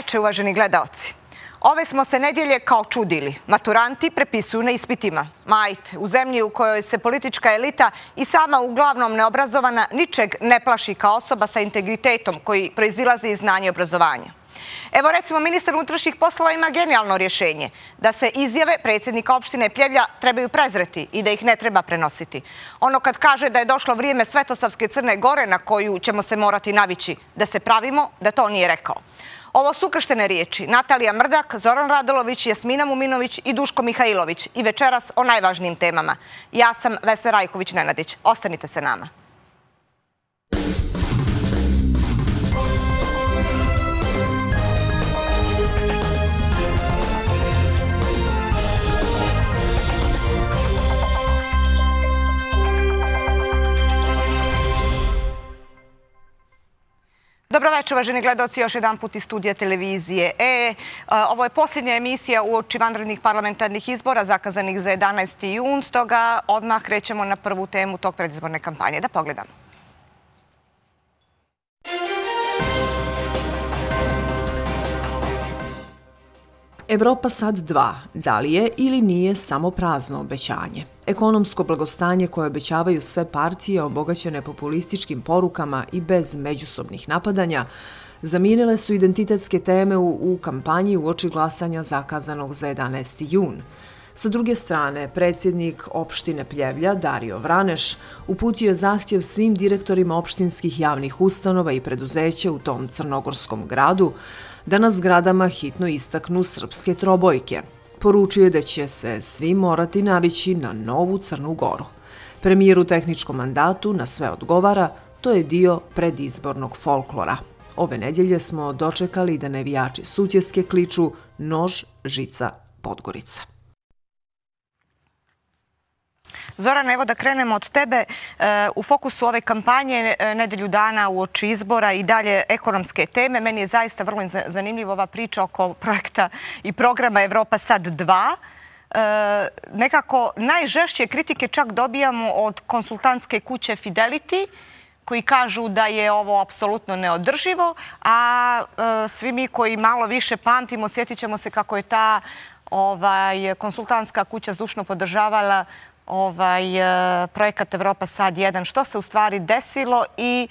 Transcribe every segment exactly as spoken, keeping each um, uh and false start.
veče, uvaženi gledaoci. Ove smo se nedjelje kao čudili. Maturanti prepisuju na ispitima. Majte, u zemlji u kojoj se politička elita i sama uglavnom neobrazovana ničeg ne plaši kao osoba sa integritetom koji proizilazi iz znanja i obrazovanja. Evo recimo, ministar unutrašnjih poslova ima genijalno rješenje da se izjave predsjednika opštine Pljevlja trebaju prezreti i da ih ne treba prenositi. Ono kad kaže da je došlo vrijeme Svetosavske Crne Gore na koju ćemo se morati navići, da se pravimo, da to nije rekao. Ovo su ukrštene riječi Natalija Mrdak, Zoran Radulović, Jasmina Muminović i Duško Mihajlović i večeras o najvažnijim temama. Ja sam Vesna Rajković-Nenadić. Ostanite se nama. Dobro večer, uvaženi gledaoci, još jedan put iz studija televizije E. Ovo je posljednja emisija uoči vanrednih parlamentarnih izbora zakazanih za jedanaesti jun, stoga odmah krećemo na prvu temu tog predizborne kampanje. Da pogledamo. Evropa sad dva. Da li je ili nije samo prazno obećanje? Ekonomsko blagostanje koje obećavaju sve partije obogaćene populističkim porukama i bez međusobnih napadanja zamijenile su identitetske teme u, u kampanji uoči glasanja zakazanog za jedanaesti jun. Sa druge strane, predsjednik opštine Pljevlja, Dario Vraneš, uputio je zahtjev svim direktorima opštinskih javnih ustanova i preduzeća u tom crnogorskom gradu da na zgradama hitno istaknu srpske trobojke. Poručio je da će se svi morati navići na novu Crnu Goru. Premijer u tehničkom mandatu na sve odgovara, to je dio predizbornog folklora. Ove nedjelje smo dočekali da navijači Sutjeske kliču nož, žica, Podgorica. Zoran, evo da krenemo od tebe. U fokusu ove kampanje nedelju dana uoči izbora i dalje ekonomske teme. Meni je zaista vrlo zanimljiva ova priča oko projekta i programa Evropa sad dva. Nekako najžešće kritike čak dobijamo od konsultantske kuće Fidelity, koji kažu da je ovo apsolutno neodrživo, a svi mi koji malo više pamtimo, sjetit ćemo se kako je ta konsultantska kuća zdušno podržavala ovaj projekat Evropa sad jedan. Što se u stvari desilo i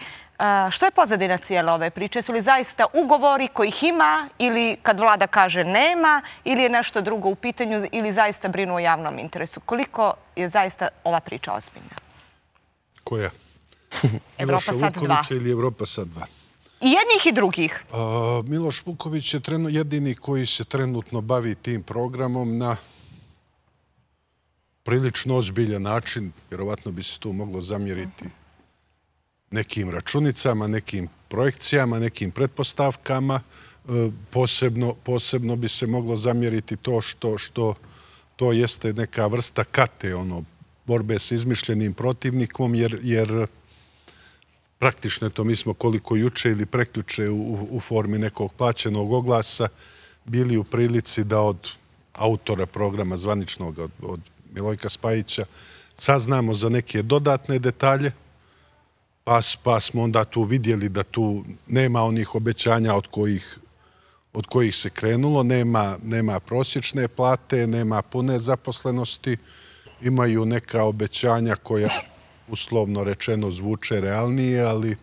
što je pozadina cijele ove priče? Su li zaista ugovori kojih ima ili kad vlada kaže nema ili je nešto drugo u pitanju ili zaista brinu o javnom interesu? Koliko je zaista ova priča ozbiljna? Koja? Evropa sad dva. Vuković ili Evropa sad dva? I jednih i drugih. Miloš Vuković je jedini koji se trenutno bavi tim programom na prilično ozbiljan način. Vjerovatno bi se tu moglo zamjeriti nekim računicama, nekim projekcijama, nekim pretpostavkama. Posebno, posebno bi se moglo zamjeriti to što, što to jeste neka vrsta kate, ono, borbe sa izmišljenim protivnikom, jer, jer praktično je to, mi smo koliko juče ili prekjuče u, u formi nekog plaćenog oglasa bili u prilici da od autora programa zvaničnog, od, od Milojka Spajića, saznamo za neke dodatne detalje, pa, pa smo onda tu vidjeli da tu nema onih obećanja od kojih, od kojih se krenulo, nema, nema prosječne plate, nema pune zaposlenosti, imaju neka obećanja koja uslovno rečeno zvuče realnije, ali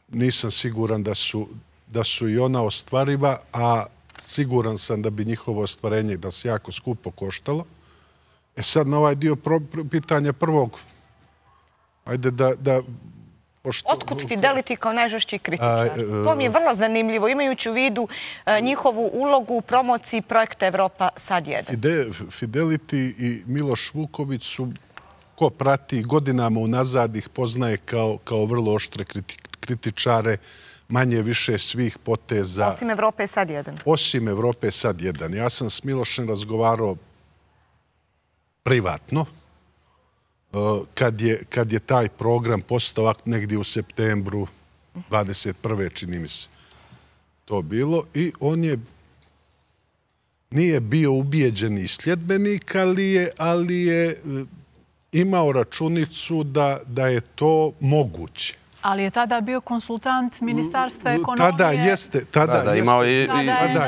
nisam siguran da su, da su i ona ostvariva, a siguran sam da bi njihovo ostvarenje da se jako skupo koštalo. E sad na ovaj dio pitanja prvog, ajde da... da pošto, otkud Fidelity kao najžešći kritičar? To mi je vrlo zanimljivo, imajući u vidu njihovu ulogu u promociji projekta Evropa sad jedan. Fide, Fidelity i Miloš Vuković su, ko prati godinama unazad, ih poznaje kao, kao vrlo oštre kritičare, manje više svih poteza. Osim Evrope sad jedan. Osim Evrope sad jedan. Ja sam s Milošem razgovarao privatno, kad je, kad je taj program postao negdje u septembru dvadeset prve čini mi se to bilo, i on je nije bio ubijeđeni sljedbenik, ali je, ali je imao računicu da, da je to moguće. Ali je tada bio konsultant Ministarstva ekonomije. Tada jeste. Tada imao i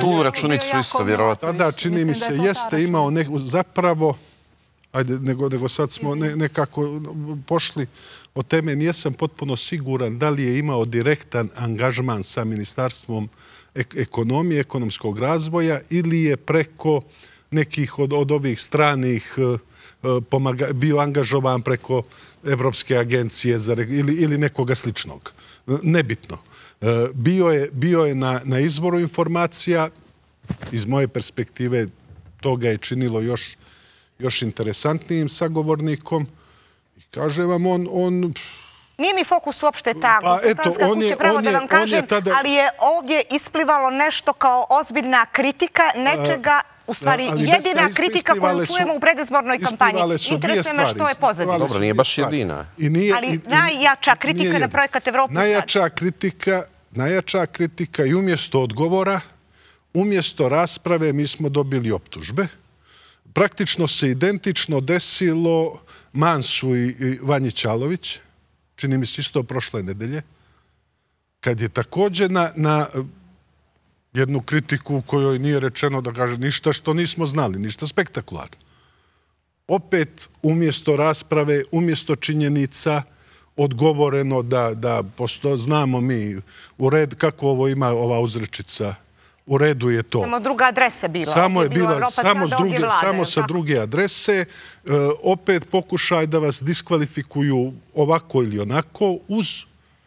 tu računicu isto, vjerovatno. Tada, čini mi se, jeste imao zapravo, ajde, nego sad smo nekako pošli od teme, nijesam potpuno siguran da li je imao direktan angažman sa Ministarstvom ekonomije, ekonomskog razvoja ili je preko nekih od ovih stranih bio angažovan preko Evropske agencije ili nekoga sličnog. Nebitno. Bio je na izvoru informacija. Iz moje perspektive to ga je činilo još interesantnijim sagovornikom. I kaže vam, on... Nije mi fokus uopšte ta konsultantska kuća, pravo da vam kažem, ali je ovdje isplivalo nešto kao ozbiljna kritika nečega. U stvari, jedina kritika koju čujemo u predizbornoj kampanji. Interesuje me što je pozadina. Dobro, nije baš jedina. Ali najjača kritika na projekat Evropa sad. Najjača kritika i umjesto odgovora, umjesto rasprave, mi smo dobili optužbe. Praktično se identično desilo Mansu i Vanji Ćalović, čini mi se isto prošle nedelje, kad je također na jednu kritiku u kojoj nije rečeno da kaže ništa što nismo znali, ništa spektakularno. Opet, umjesto rasprave, umjesto činjenica, odgovoreno da znamo mi u red kako ovo ima ova uzrečica. U redu je to. Samo druga adresa bila. Samo je bila, samo sa druge adrese. Opet pokušaj da vas diskvalifikuju ovako ili onako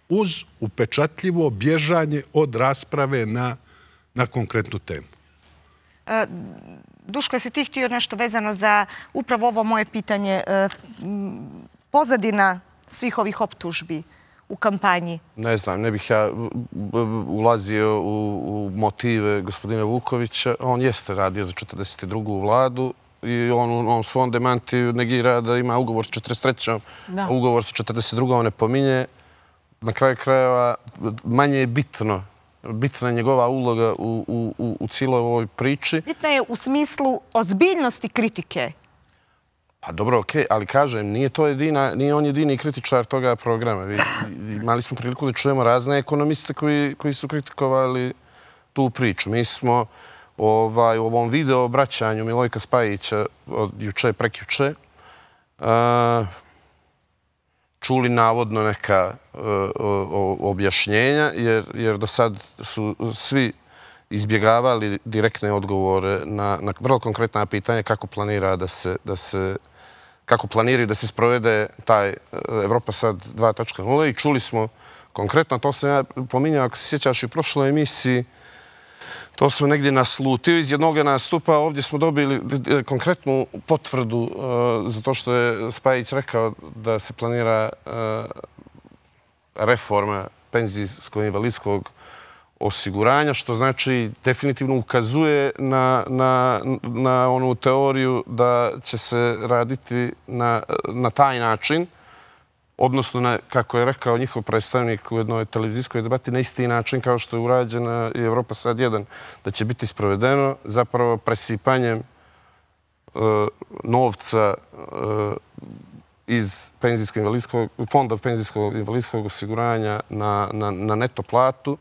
uz upečatljivo bježanje od rasprave na na konkretnu temu. Duško, jesi ti htio nešto vezano za upravo ovo moje pitanje? Pozadina svih ovih optužbi u kampanji? Ne znam, ne bih ja ulazio u motive gospodina Vukovića. On jeste radio za četrdeset drugu vladu i on u svom demantiju negira da ima ugovor s četrdeset trećom, a ugovor sa četrdeset drugom ne pominje. Na kraju krajeva manje je bitno bitna je njegova uloga u cijeloj ovoj priči. Bitna je u smislu ozbiljnosti kritike. Pa dobro, okej, ali kažem, nije to jedina, nije on jedini kritičar toga programa. Imali smo priliku da čujemo razne ekonomiste koji su kritikovali tu priču. Mi smo u ovom video obraćanju Milojka Spajića od juče, prekjuče, čuli navodno neka objašnjenja, jer do sad su svi izbjegavali direktne odgovore na vrlo konkretna pitanja kako planira da se kako planiraju da se sprovede taj Evropa sad dva točka nula i čuli smo konkretno, to sam ja pominjao, ako se sjećaš i u prošloj emisiji, to smo negdje naslutio iz jednog nastupa. Ovdje smo dobili konkretnu potvrdu za to što je Spajić rekao da se planira reforma penzijsko-invalidskog osiguranja, što znači definitivno ukazuje na onu teoriju da će se raditi na taj način, odnosno, kako je rekao njihov predstavnik u jednoj televizijskoj debati, na isti način kao što je urađena i Evropa sad jedan, da će biti sprovedeno zapravo presipanjem novca iz fonda penzijskog invalidskog osiguranja na neto platu,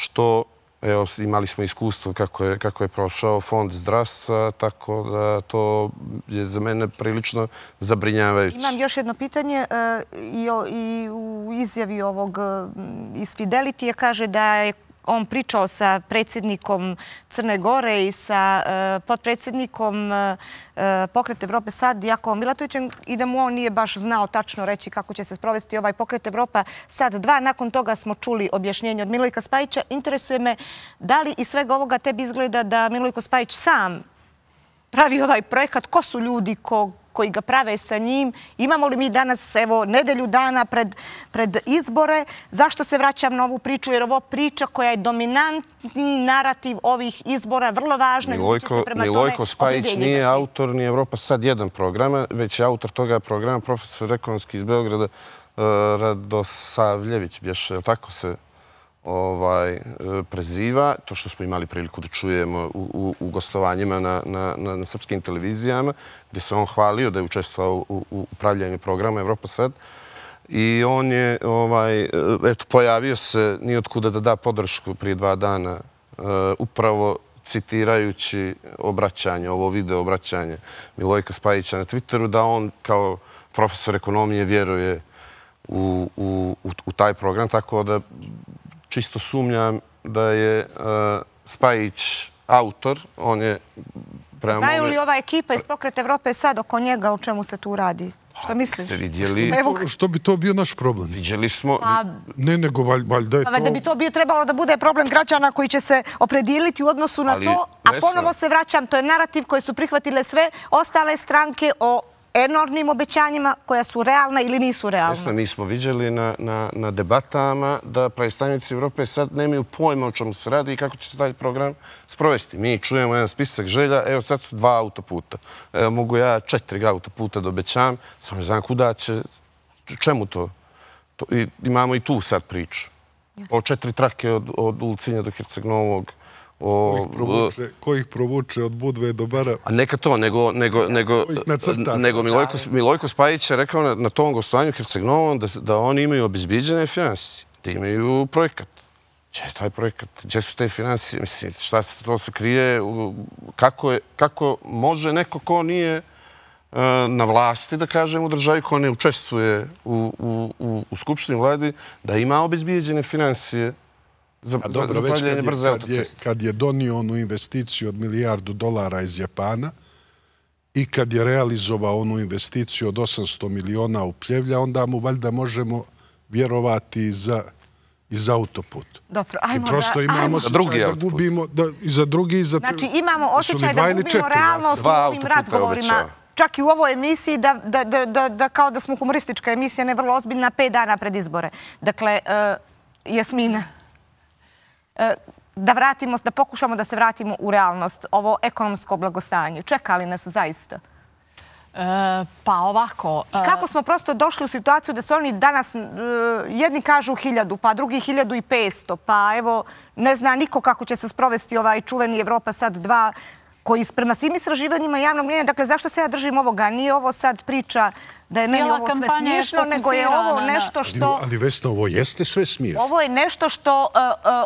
što evo, imali smo iskustvo kako je prošao fond zdravstva, tako da to je za mene prilično zabrinjavajuće. Imam još jedno pitanje. I u izjavi ovog iz Fidelity kaže da je on pričao sa predsjednikom Crne Gore i sa potpredsjednikom Pokret Evrope sad, Jakovom Milatovićem, i da mu on nije baš znao tačno reći kako će se sprovesti ovaj Pokret Evropa sad dva. Nakon toga smo čuli objašnjenje od Milojka Spajića. Interesuje me da li iz svega ovoga tebi izgleda da Milojko Spajić sam pravi ovaj projekat, ko su ljudi koji ga prave sa njim, imamo li mi danas, evo, nedelju dana pred izbore, zašto se vraćam na ovu priču, jer ovo priča koja je dominantni narativ ovih izbora, vrlo važna. Milojko Spajić nije autor ni Evropa sad jedan programa, već je autor toga programa profesor ekonomski iz Beograda Radosavljević, bješe, tako se preziva, to što smo imali priliku da čujemo u gostovanjima na srpskim televizijama, gdje se on hvalio da je učestvovao u upravljanju programa Evropa sad. I on je, ovaj, eto, pojavio se nijotkuda da da podršku prije dva dana, upravo citirajući obraćanje, ovo video obraćanje Milojka Spajića na Twitteru, da on kao profesor ekonomije vjeruje u, u, u taj program, tako da čisto sumnjam da je uh, Spajić autor, on je prema Znaju mome... li ova ekipa iz Pokreta Evrope sad oko njega o čemu se tu radi? Što misliš? Ste vidjeli? Što, što bi to bio naš problem? Vidjeli smo... Pa, ne, nego valjda je to... Da bi to bio trebalo da bude problem građana koji će se opredijeliti u odnosu na Ali, to, a Vesna, ponovo se vraćam, to je narativ koji su prihvatile sve ostale stranke o enormnim obećanjima koja su realna ili nisu realna. Vesna, mi smo viđali na, na, na debatama da predstavnici Evrope sad nemaju pojma o čemu se radi i kako će se taj program sprovesti. Mi čujemo jedan spisak želja, evo sad su dva autoputa. Evo mogu ja četiri autoputa da obećam, samo ne znam kuda će, čemu to? to i, imamo i tu sad priču. O četiri trake od, od Ulcinja do Herceg Novog. O, ko, ih provuče, ko ih provuče od Budve do Bara? A neka to, nego, nego, nego, nego Milojko, Milojko Spajić je rekao na, na tom gostovanju Herceg Novom da, da oni imaju obezbiđene financije, da imaju projekat. Gdje je taj projekat? Gdje su te financije? Mislim, šta se to se krije? Kako, je, kako može neko ko nije uh, na vlasti, da kažem, u državi, ko ne učestvuje u, u, u, u Skupštini vladi, da ima obezbiđene financije za, A dobro, za već pravljanje brze kad je, autoceste. kad je donio onu investiciju od milijardu dolara iz Japana i kad je realizovao onu investiciju od osamsto miliona u Pljevlja, onda mu valjda možemo vjerovati i za, i za autoput. Dobro, ajmo I prosto da, imamo ajmo. osjećaj da gubimo da, i za drugi i za... Znači imamo osjećaj da gubimo realnost u ovim razgovorima. Čak i u ovoj emisiji, da, da, da, da, da kao da smo humoristička emisija, ne vrlo ozbiljna, pet dana pred izbore. Dakle, uh, Jasmina, da vratimo, da pokušamo da se vratimo u realnost, ovo ekonomsko blagostanje. Čeka li nas zaista? E, pa ovako... I kako smo prosto došli u situaciju da su oni danas, jedni kažu hiljadu, pa drugi hiljadu i petsto, pa evo, ne zna niko kako će se sprovesti ovaj čuveni Evropa sad dva, koji prema svim istraživanjima javnog mnjenja, dakle, zašto se ja držim ovoga? Nije ovo sad priča da je meni ovo sve smiješno, nego je ovo nešto što... Ali Vesna, ovo jeste sve smiješno. Ovo je nešto što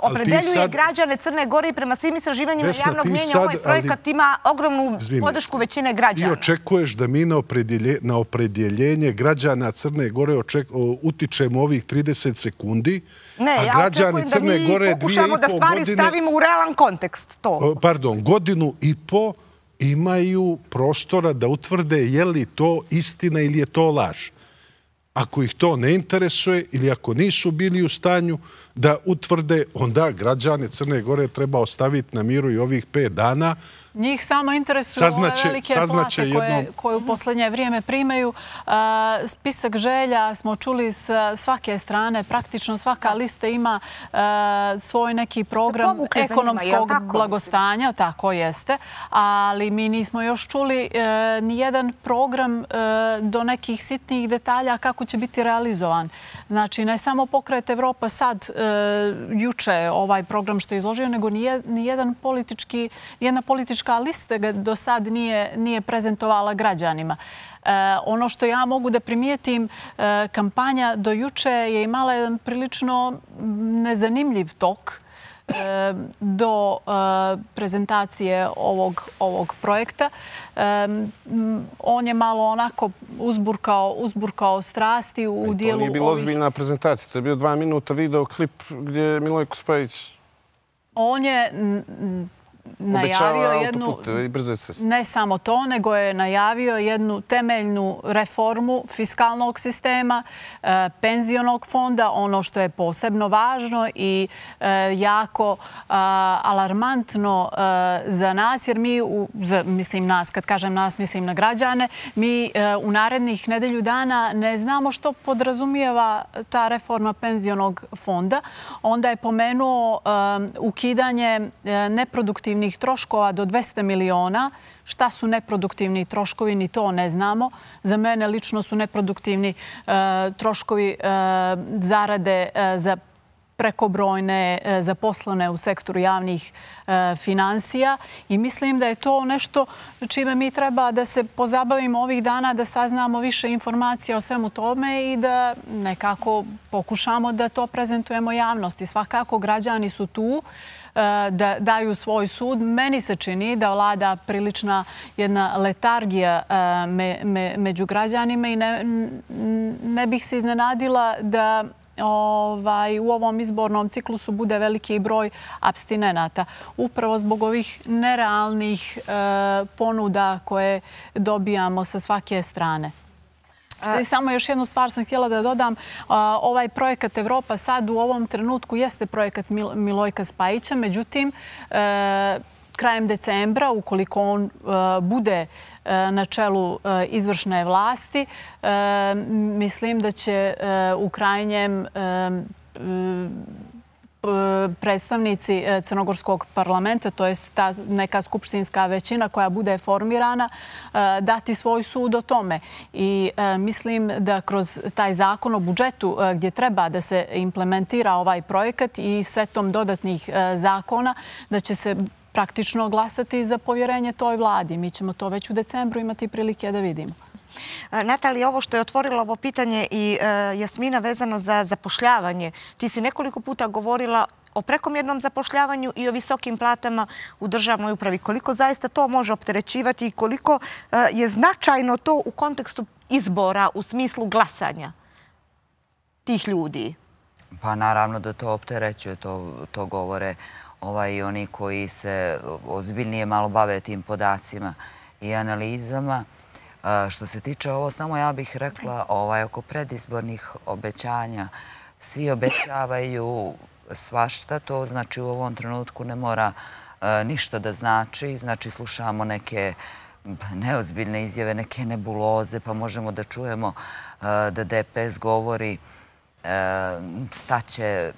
opredeljuje građane Crne Gore i prema svim istraživanjima javnog mnjenja ovaj projekat ima ogromnu podršku većine građana. Ti očekuješ da mi na opredjeljenje građana Crne Gore utičemo ovih trideset sekundi, ne, ja očekujem da mi pokušamo da stvari stavimo u realan kontekst. Pardon, godinu i po imaju prostora da utvrde je li to istina ili je to laž. Ako ih to ne interesuje ili ako nisu bili u stanju da utvrde, onda građane Crne Gore treba ostaviti na miru i ovih pet dana. Njih samo interesuju ove velike plate koje, koje u posljednje vrijeme primaju. Spisak želja smo čuli s svake strane. Praktično svaka lista ima svoj neki program ekonomskog blagostanja. Tako jeste. Ali mi nismo još čuli ni jedan program do nekih sitnih detalja kako će biti realizovan. Znači, ne samo Pokret Evropa sad juče ovaj program što je izložio, nego ni jedan politički, jedna politička lista ga do sad nije, nije prezentovala građanima. E, ono što ja mogu da primijetim, e, kampanja do juče je imala jedan prilično nezanimljiv tok e, do e, prezentacije ovog, ovog projekta. E, on je malo onako uzburkao, uzburkao strasti u, u dijelu ovih... To nije bila ozbiljna prezentacija. To je bio dva minuta video klip gdje je Milojko Spajić... On je najavio jednu, ne samo to, nego je najavio jednu temeljnu reformu fiskalnog sistema, penzionog fonda, ono što je posebno važno i jako alarmantno za nas, jer mi, mislim nas, kad kažem nas, mislim na građane, mi u narednih nedelju dana ne znamo što podrazumijeva ta reforma penzionog fonda. Onda je pomenuo ukidanje neproduktivnih troškova do dvesta miliona. Šta su neproduktivni troškovi, ni to ne znamo. Za mene lično su neproduktivni troškovi zarade za prekobrojne, zaposlene u sektoru javnih finansija i mislim da je to nešto čime mi treba da se pozabavimo ovih dana, da saznamo više informacija o svemu tome i da nekako pokušamo da to prezentujemo javnosti. Svakako građani su tu da daju svoj sud. Meni se čini da vlada prilična jedna letargija među građanima i ne bih se iznenadila da u ovom izbornom ciklusu bude veliki broj apstinenata. Upravo zbog ovih nerealnih ponuda koje dobijamo sa svake strane. Samo još jednu stvar sam htjela da dodam. Ovaj projekat Evropa sad u ovom trenutku jeste projekat Milojka Spajića. Međutim, krajem decembra, ukoliko on bude na čelu izvršne vlasti, mislim da će u krajnjem predstavnici Crnogorskog parlamenta, to je ta neka skupštinska većina koja bude formirana, dati svoj sud o tome. I mislim da kroz taj zakon o budžetu gdje treba da se implementira ovaj projekat i setom dodatnih zakona, da će se praktično glasati za povjerenje toj vladi. Mi ćemo to već u decembru imati prilike da vidimo. Natalija, ovo što je otvorilo ovo pitanje i Jasmina vezano za zapošljavanje, ti si nekoliko puta govorila o prekomjernom zapošljavanju i o visokim platama u državnoj upravi. Koliko zaista to može opterećivati i koliko je značajno to u kontekstu izbora u smislu glasanja tih ljudi? Pa naravno da to opterećuje, to govore i oni koji se ozbiljnije malo bave tim podacima i analizama. Što se tiče ovo, samo ja bih rekla oko predizbornih obećanja. Svi obećavaju svašta, to znači u ovom trenutku ne mora ništa da znači. Znači slušamo neke neozbiljne izjave, neke nebuloze, pa možemo da čujemo da D P S govori staće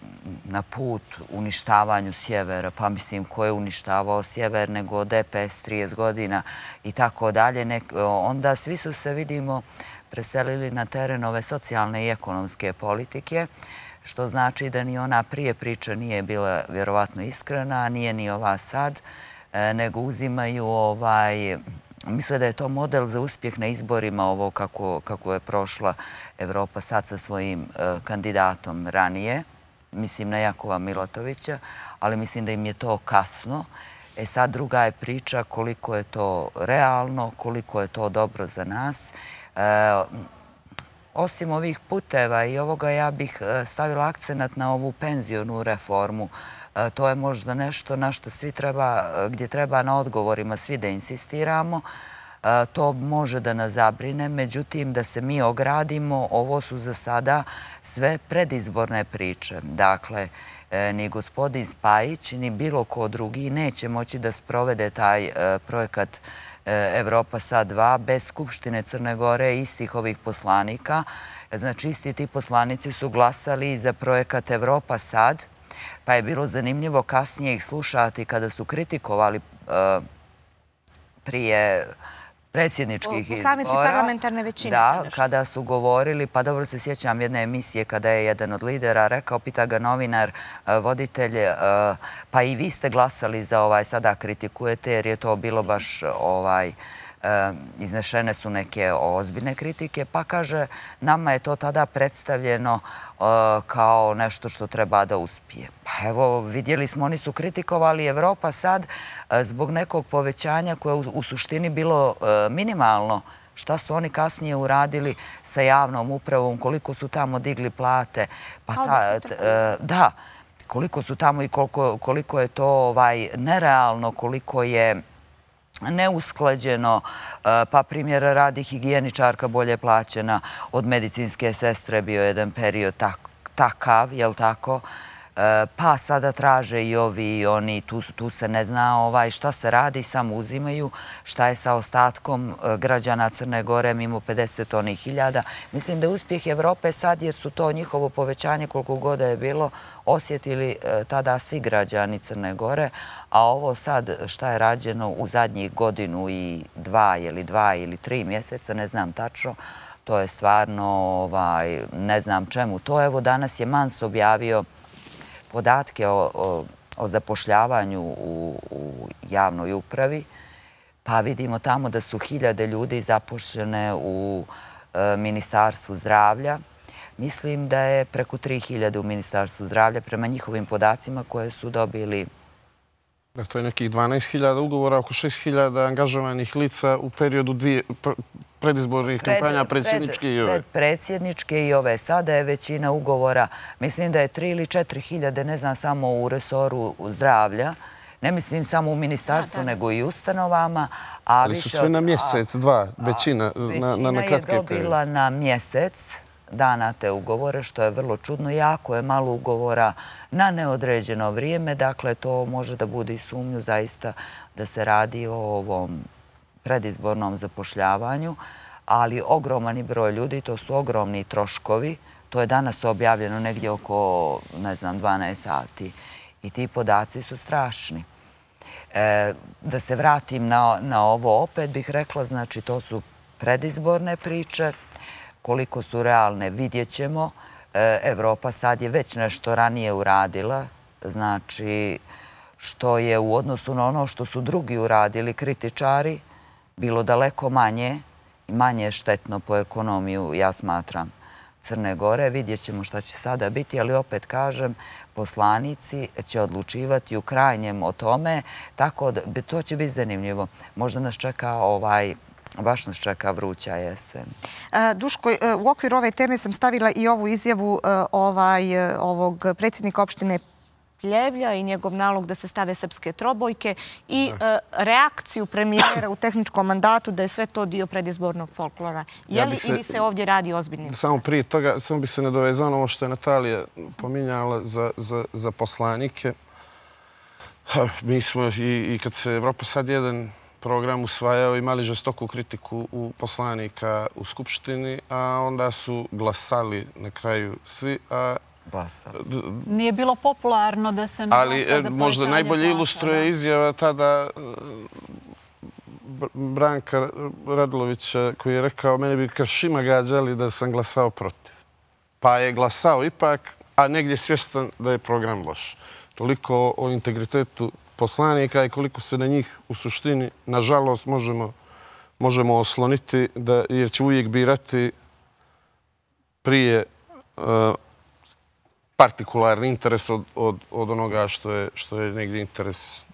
na put uništavanju sjevera, pa mislim ko je uništavao sjever nego D P S trideset godina i tako dalje. Onda svi su se, vidimo, preselili na teren ove socijalne i ekonomske politike, što znači da ni ona prije priča nije bila vjerovatno iskrena, a nije ni ova sad, nego uzimaju ovaj... Misle da je to model za uspjeh na izborima, ovo kako je prošla Evropa sad sa svojim kandidatom ranije. Mislim na Jakova Milatovića, ali mislim da im je to kasno. E sad druga je priča koliko je to realno, koliko je to dobro za nas. Osim ovih puteva i ovoga, ja bih stavila akcenat na ovu penzionu reformu. To je možda nešto na što svi treba, gdje treba na odgovorima svi da insistiramo. To može da nas zabrine, međutim da se mi ogradimo, ovo su za sada sve predizborne priče. Dakle, ni gospodin Spajić, ni bilo ko drugi neće moći da sprovede taj projekat Evropa sad dva bez Skupštine Crne Gore istih ovih poslanika. Znači, isti ti poslanici su glasali za projekat Evropa sad, pa je bilo zanimljivo kasnije ih slušati kada su kritikovali prije predsjedničkih izbora. Poslanici parlamentarne većine. Da, kada su govorili, pa dobro se sjećam jedne emisije kada je jedan od lidera rekao, pita ga novinar, voditelj, pa i vi ste glasali za ovaj, sada kritikujete jer je to bilo baš ovaj... Iznešene su neke ozbiljne kritike, pa kaže, nama je to tada predstavljeno kao nešto što treba da uspije. Pa evo, vidjeli smo, oni su kritikovali Evropa sad zbog nekog povećanja koje u suštini bilo minimalno. Šta su oni kasnije uradili sa javnom upravom, koliko su tamo digli plate. Da, koliko su tamo i koliko je to nerealno, koliko je neusklađeno, pa primjer radi higijeničarka bolje plaćena od medicinske sestre, bio je jedan period takav, jel tako? Pa sada traže i ovi i oni, tu se ne zna šta se radi, samo uzimaju šta je sa ostatkom građana Crne Gore mimo pedeset onih hiljada. Mislim da je uspjeh Evrope sad, jer su to njihovo povećanje koliko god je bilo, osjetili tada svi građani Crne Gore, a ovo sad šta je rađeno u zadnjih godinu i dva ili dva ili tri mjeseca, ne znam tačno, to je stvarno, ne znam čemu to. Evo danas je Mans objavio podatke o zapošljavanju u javnoj upravi, pa vidimo tamo da su hiljade ljudi zaposlene u Ministarstvu zdravlja. Mislim da je preko tri hiljade u Ministarstvu zdravlja prema njihovim podacima koje su dobili. To je nekih dvanaest hiljada ugovora, oko šest hiljada angažovanih lica u periodu dvije predizbornih kampanja, predsjedničke i ove. Predsjedničke i ove. Sada je većina ugovora, mislim da je tri ili četiri hiljade, ne znam, samo u resoru zdravlja. Ne mislim samo u ministarstvu, nego i ustanovama. Ali su sve na mjesec, dva, većina na kratke periode. Većina je dobila na mjesec dana te ugovore, što je vrlo čudno. Jako je malo ugovora na neodređeno vrijeme. Dakle, to može da bude i sumnju zaista da se radi o ovom predizbornom zapošljavanju, ali ogromani broj ljudi, to su ogromni troškovi. To je danas objavljeno negdje oko, ne znam, dvanaest sati. I ti podaci su strašni. Da se vratim na ovo opet bih rekla, znači to su predizborne priče. Koliko su realne, vidjet ćemo. Evropa sad je već nešto ranije uradila, znači što je u odnosu na ono što su drugi uradili, kritičari, bilo daleko manje i manje štetno po ekonomiju, ja smatram, Crne Gore. Vidjet ćemo šta će sada biti, ali opet kažem, poslanici će odlučivati u krajnjem o tome, tako da to će biti zanimljivo. Možda nas čeka ovaj... Baš nas čeka vruća jesen. Duško, u okviru ove teme sam stavila i ovu izjavu ovog predsjednika opštine Pljevlja i njegov nalog da se stave srpske trobojke i reakciju premijera u tehničkom mandatu da je sve to dio predizbornog folklora. Je li ili se ovdje radi ozbiljnim? Samo prije toga, samo bi se nadovezao na ovo što je Natalija pominjala za poslanike. Mi smo i kad se Evropa sad jedan program usvajao, imali žestoku kritiku u poslanika u Skupštini, a onda su glasali na kraju svi. Nije bilo popularno da se ne glasa za povećanje glasa. Ali možda najbolje ilustruje izjava tada Branka Radulovića koji je rekao mene bi kršima gađali da sam glasao protiv. Pa je glasao ipak, a negdje svjestan da je program loš. Toliko o integritetu poslanika i koliko se na njih u suštini, nažalost, možemo osloniti, jer će uvijek birati prije partikularni interes od onoga što je negdje interes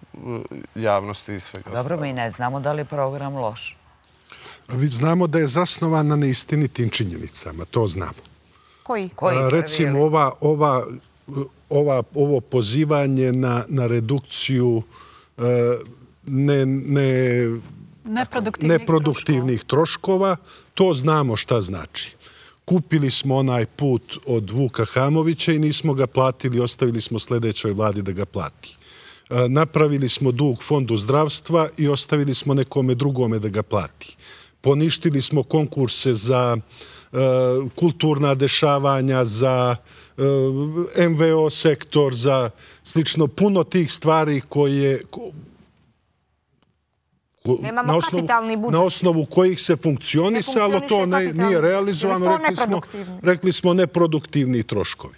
javnosti i svega. Dobro, mi ne znamo da li je program loš. Znamo da je zasnovan na neistinitim činjenicama, to znamo. Koji? Recimo, ova ovo pozivanje na redukciju neproduktivnih troškova, to znamo šta znači. Kupili smo onaj put od Vuka Hamovića i nismo ga platili, ostavili smo sljedećoj vladi da ga plati. Napravili smo dug fondu zdravstva i ostavili smo nekome drugome da ga plati. Poništili smo konkurse za kulturna dešavanja, za em ve o sektor, za slično puno tih stvari koje na osnovu kojih se funkcionisalo, to nije realizovano, rekli smo neproduktivni troškovi.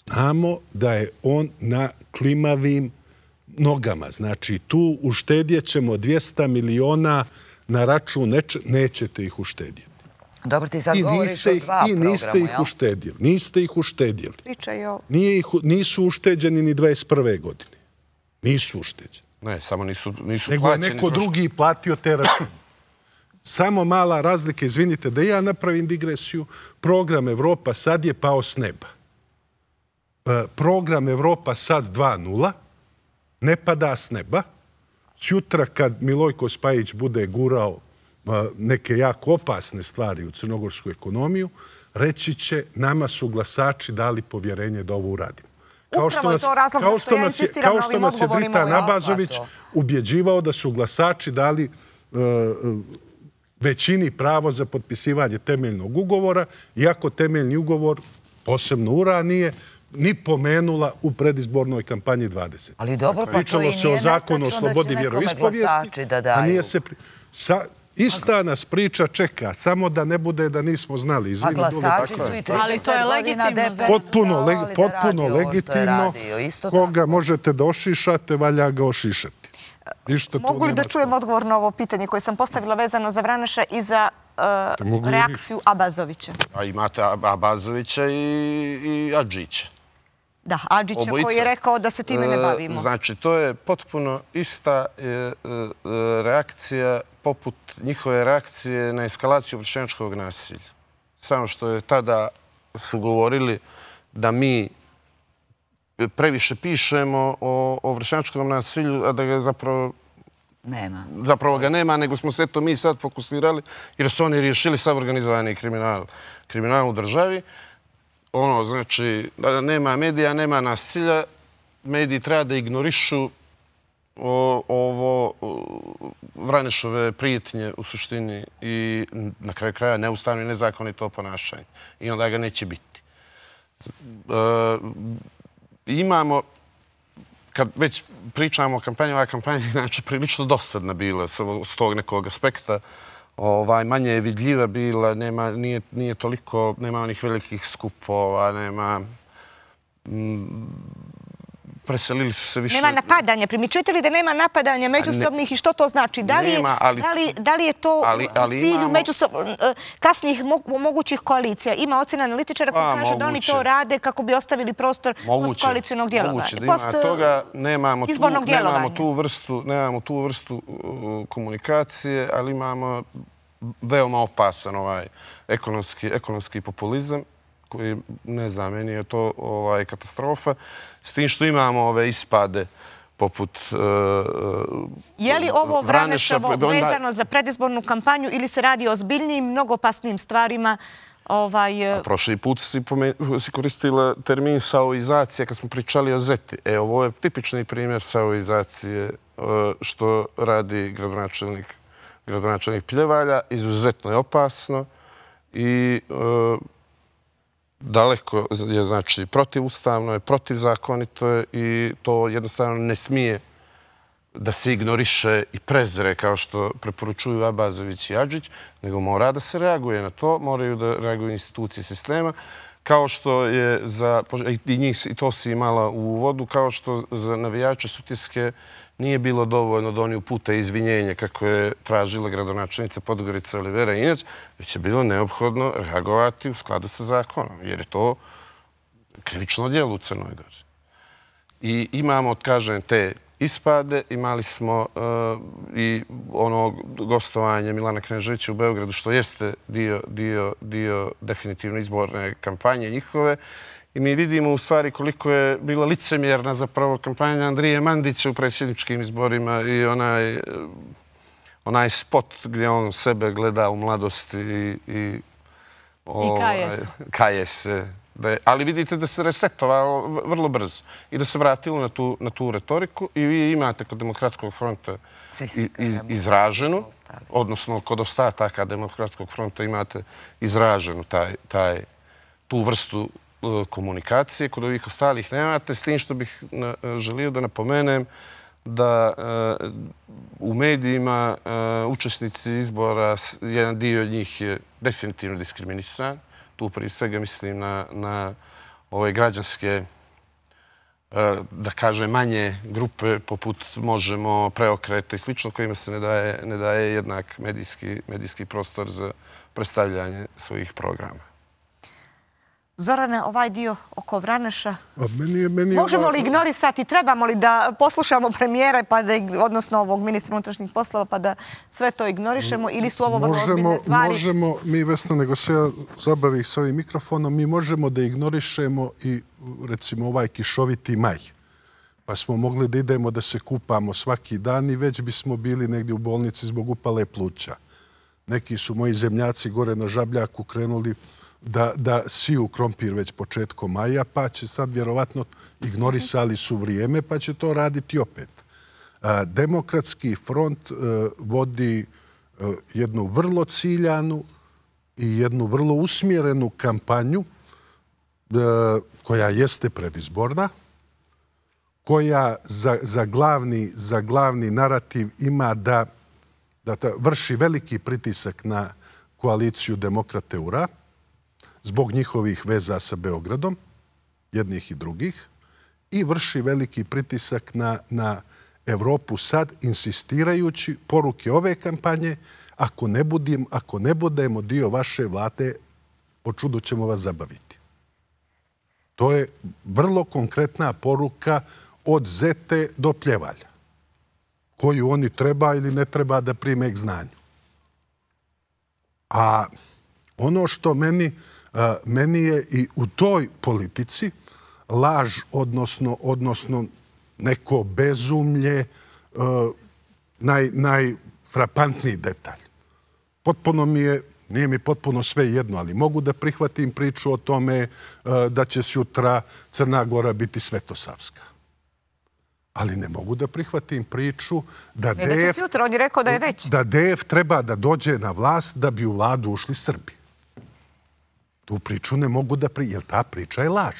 Znamo da je on na klimavim nogama. Znači, tu uštedjet ćemo dvjesto miliona na račun, nećete ih uštedjeti. Dobro, ti sad govoriš o dva programa, jel? I niste ih uštedjeli. Niste ih uštedjeli. Pričaj o... Nisu ušteđeni ni dvadeset prve godine. Nisu ušteđeni. Ne, samo nisu plaćeni. Nego je neko drugi platio te račune. Samo mala razlika, izvinite da ja napravim digresiju, program Evropa sad je pao s neba. Program Evropa sad dva nula ne pada s neba. Sutra kad Milojko Spajić bude gurao neke jako opasne stvari u crnogorsku ekonomiju, reći će nama su glasači dali povjerenje da ovo uradimo. Upravo je to razlog zašto ja insistiram na ovim odgovorima. Kao što nas je Dritan Abazović ubjeđivao da su glasači dali većini pravo za potpisivanje temeljnog ugovora, iako temeljni ugovor, posebno URA, nije ni pomenula u predizbornoj kampanji dvadesete. Ali dobro, pa to i nije netačno da će nekome glasači da daju. Ista nas priča čeka, samo da ne bude da nismo znali. A glasači su i trideset godina D P S potpuno legitimno. Koga možete da ošišate, valja ga ošišati. Mogu li da čujem odgovor na ovo pitanje koje sam postavila vezano za Vraneša i za reakciju Abazovića? Imate Abazovića i Adžića. Da, Adžića koji je rekao da se time ne bavimo. Znači, to je potpuno ista reakcija poput njihove reakcije na eskalaciju vršnjačkog nasilja. Samo što je tada su govorili da mi previše pišemo o vršnjačkom nasilju, a da ga zapravo nema. Zapravo ga nema, nego smo se to mi sad fokusirali jer su oni riješili sav organizovani kriminal, kriminal u državi. Ono, znači, da nema medija, nema nasilja, mediji treba da ignorišu ovo Vranešove prijetnje u suštini i na kraju kraja neustavno i nezakonito ponašanje. I onda ga neće biti. Imamo, kad već pričamo o kampanji, ova kampanja je inače prilično dosadna bila s tog nekog aspekta. Manje je vidljiva bila, nije toliko, nema onih velikih skupova, nema... Preselili su se više... Nema napadanja. Primičujete li da nema napadanja međusobnih i što to znači? Da li je to cilj kasnijih mogućih koalicija? Ima ocjena analitičara koji kaže da oni to rade kako bi ostavili prostor postkoalicijnog djelovanja. Moguće da ima toga. Nemamo tu vrstu komunikacije, ali imamo veoma opasan ovaj ekonomski populizam koji, ne znam, meni je to katastrofa. S tim što imamo ove ispade poput Vraneša... Je li ovo Vraneševo vezano za predizbornu kampanju ili se radi o ozbiljnijim, mnogo opasnijim stvarima? Prošli put si koristila termin saoizacija kad smo pričali o Zeti. E, ovo je tipični primjer saoizacije što radi gradonačelnik Pljevalja. Izuzetno je opasno i daleko je, znači, protivustavno je, protivzakonito je i to jednostavno ne smije da se ignoriše i prezre kao što preporučuju Abazović i Adžić, nego mora da se reaguje na to, moraju da reaguju institucije sistema, kao što je za, i njih, i to si imala u uvodu, kao što za navijače Sutjeske nije bilo dovoljno da oni upute izvinjenje kako je tražila gradonačelnica Podgorica Olivera Injac, već je bilo neophodno reagovati u skladu sa zakonom, jer je to krivično djelo u Crnoj Gori. I imamo, kažem, te ispade, imali smo i ono gostovanje Milana Kneževića u Beogradu, što jeste dio definitivno izborne kampanje njihove. I mi vidimo u stvari koliko je bila licemjerna zapravo kampanja Andrije Mandića u predsjedničkim izborima i onaj spot gdje on sebe gleda u mladosti i kaje se. Ali vidite da se resetovao vrlo brzo i da se vratilo na tu retoriku i vi imate kod Demokratskog fronta izraženu, odnosno kod ostataka Demokratskog fronta imate izraženu tu vrstu komunikacije, kod ovih ostalih nemate, s tim što bih želio da napomenem da u medijima učesnici izbora, jedan dio njih je definitivno diskriminisan. Tu prije svega mislim na ove građanske, da kažem, manje grupe poput Možemo, Preokreta i slično, kojima se ne daje jednak medijski prostor za predstavljanje svojih programa. Zorane, ovaj dio oko Vraneša, možemo li ignorisati, trebamo li da poslušamo premijera, odnosno ovog ministra unutrašnjih poslova, pa da sve to ignorišemo, ili su ovo vrlo ozbiljne stvari? Možemo, mi, Vesna, nego se ja zabavih s ovim mikrofonom, mi možemo da ignorišemo i, recimo, ovaj kišoviti maj. Pa smo mogli da idemo da se kupamo svaki dan i već bismo bili negdje u bolnici zbog upale pluća. Neki su moji zemljaci gore na Žabljaku krenuli da siju krompir već početkom maja, pa će sad vjerovatno ignorisali su vrijeme, pa će to raditi opet. Demokratski front vodi jednu vrlo ciljanu i jednu vrlo usmjerenu kampanju koja jeste predizborna, koja za glavni narativ ima da da vrši veliki pritisak na koaliciju Demokrate U R A zbog njihovih veza sa Beogradom, jednih i drugih, i vrši veliki pritisak na, na Evropu sad, insistirajući poruke ove kampanje, ako ne, budim, ako ne budemo dio vaše vlade, po čudu ćemo vas zabaviti. To je vrlo konkretna poruka od Zete do Pljevalja, koju oni treba ili ne treba da prime k znanju. A ono što meni, meni je i u toj politici laž, odnosno, odnosno neko bezumlje, naj, najfrapantniji detalj. Potpuno mi je, nije mi potpuno sve jedno, ali mogu da prihvatim priču o tome da će sutra Crna Gora biti Svetosavska. Ali ne mogu da prihvatim priču da D F, jutra, on je rekao da je već. Da D F treba da dođe na vlast da bi u vladu ušli Srbi. Tu priču ne mogu da prihvatim, jer ta priča je laž.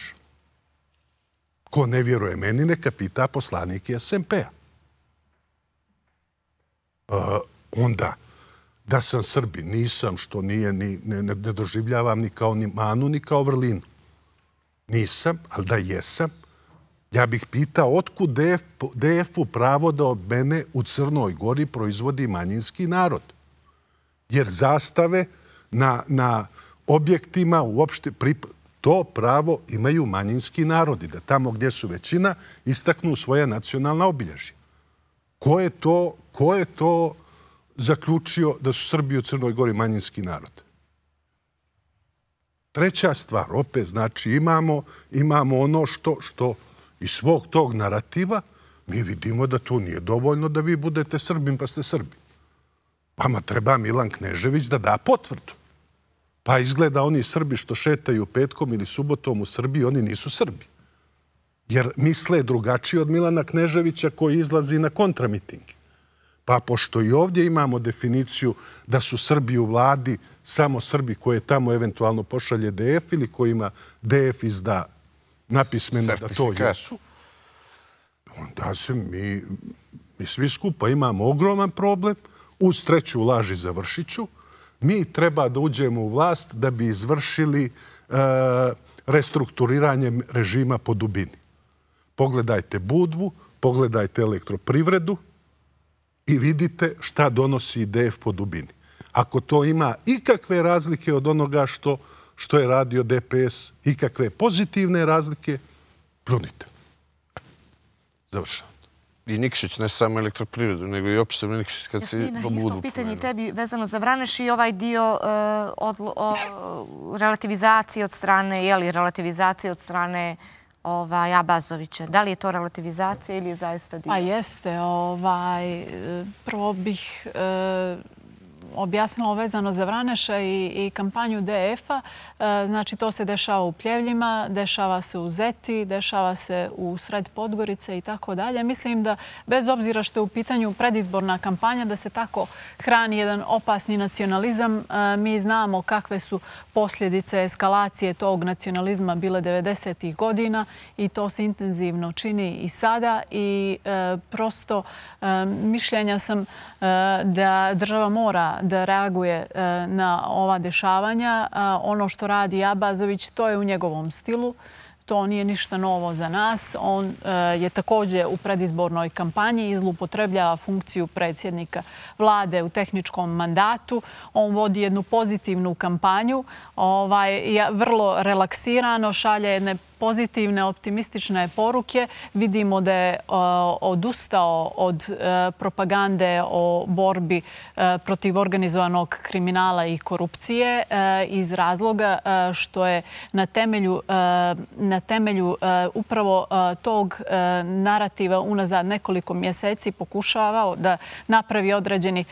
Ko ne vjeruje meni, neka pita poslanike S M P-a. Uh, onda, da sam Srbin, nisam, što nije, ni, ne, ne doživljavam ni kao ni manu, ni kao vrlinu. Nisam, ali da jesam. Ja bih pitao otkud D F-u pravo da od mene u Crnoj Gori proizvodi manjinski narod. Jer zastave na, na objektima uopšte pripadaju. To pravo imaju manjinski narodi, da tamo gdje su većina istaknu svoje nacionalna obilježja. Ko je to, ko je to zaključio da su Srbi u Crnoj Gori manjinski narod? Treća stvar, opet, znači imamo, imamo ono što, što iz svog tog narativa mi vidimo da to nije dovoljno da vi budete Srbin pa ste Srbi. Vama treba Milan Knežević da da potvrdu. Pa izgleda oni Srbi što šetaju petkom ili subotom u Srbiji, oni nisu Srbi. Jer misle drugačije od Milana Kneževića koji izlazi na kontramitinge. Pa pošto i ovdje imamo definiciju da su Srbi u vladi samo Srbi koje tamo eventualno pošalje D F ili kojima D F izda napismeno da to jesu, onda se mi, mi svi skupa imamo ogroman problem. Uz treću laž i završit ću. Mi treba da uđemo u vlast da bi izvršili e, restrukturiranje režima po dubini. Pogledajte Budvu, pogledajte Elektroprivredu i vidite šta donosi D F po dubini. Ako to ima ikakve razlike od onoga što, što je radio D P S, ikakve pozitivne razlike, plunite. Završavam. I Nikšić, ne samo Elektroprivredu, nego i opšte Nikšić kad se po Budvu. Isto pitanje tebi vezano za Vraneš i ovaj dio uh, od, o, relativizacije od strane, je li relativizacije od strane ovaj, Abazovića. Da li je to relativizacija ili je zaista dio? A jeste. Ovaj, prvo bih uh, objasnila vezano za Vraneša i, i kampanju D F-a. E, znači, to se dešava u Pljevljima, dešava se u Zeti, dešava se u sred Podgorice i tako dalje. Mislim da, bez obzira što je u pitanju predizborna kampanja, da se tako hrani jedan opasni nacionalizam. E, mi znamo kakve su posljedice eskalacije tog nacionalizma bile devedesetih godina i to se intenzivno čini i sada. I e, prosto e, mišljenja sam e, da država mora da reaguje na ova dešavanja. Ono što radi Abazović, to je u njegovom stilu. To nije ništa novo za nas. On je također u predizbornoj kampanji i zloupotrebljava funkciju predsjednika vlade u tehničkom mandatu. On vodi jednu pozitivnu kampanju, ovaj, vrlo relaksirano, šalje jedne pozitivne, optimistične poruke. Vidimo da je odustao od propagande o borbi protiv organizovanog kriminala i korupcije iz razloga što je na temelju, na temelju upravo tog narativa unazad nekoliko mjeseci pokušavao da napravi određeni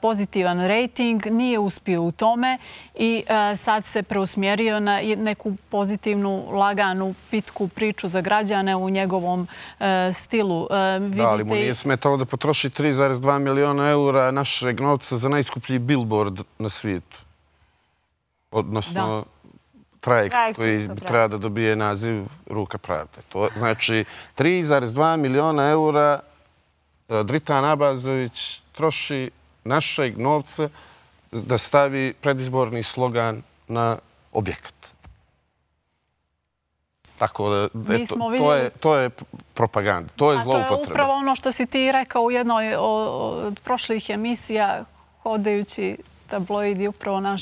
pozitivan rejting. Nije uspio u tome i sad se preusmjerio na neku pozitivnu, laganu, pitku priču za građane u njegovom e, stilu. E, da, ali mu nije smetalo da potroši tri zarez dva miliona eura našeg novca za najskuplji billboard na svijetu. Odnosno, da. trajekt koji treba da dobije naziv Ruka pravde. To znači tri zarez dva miliona eura Dritan Abazović troši našeg novca da stavi predizborni slogan na objekat. Tako da, eto, to je, to je propaganda, to je zloupotreba. To je upravo ono što si ti rekao u jednoj od prošlih emisija, hodajući tabloidi, upravo naš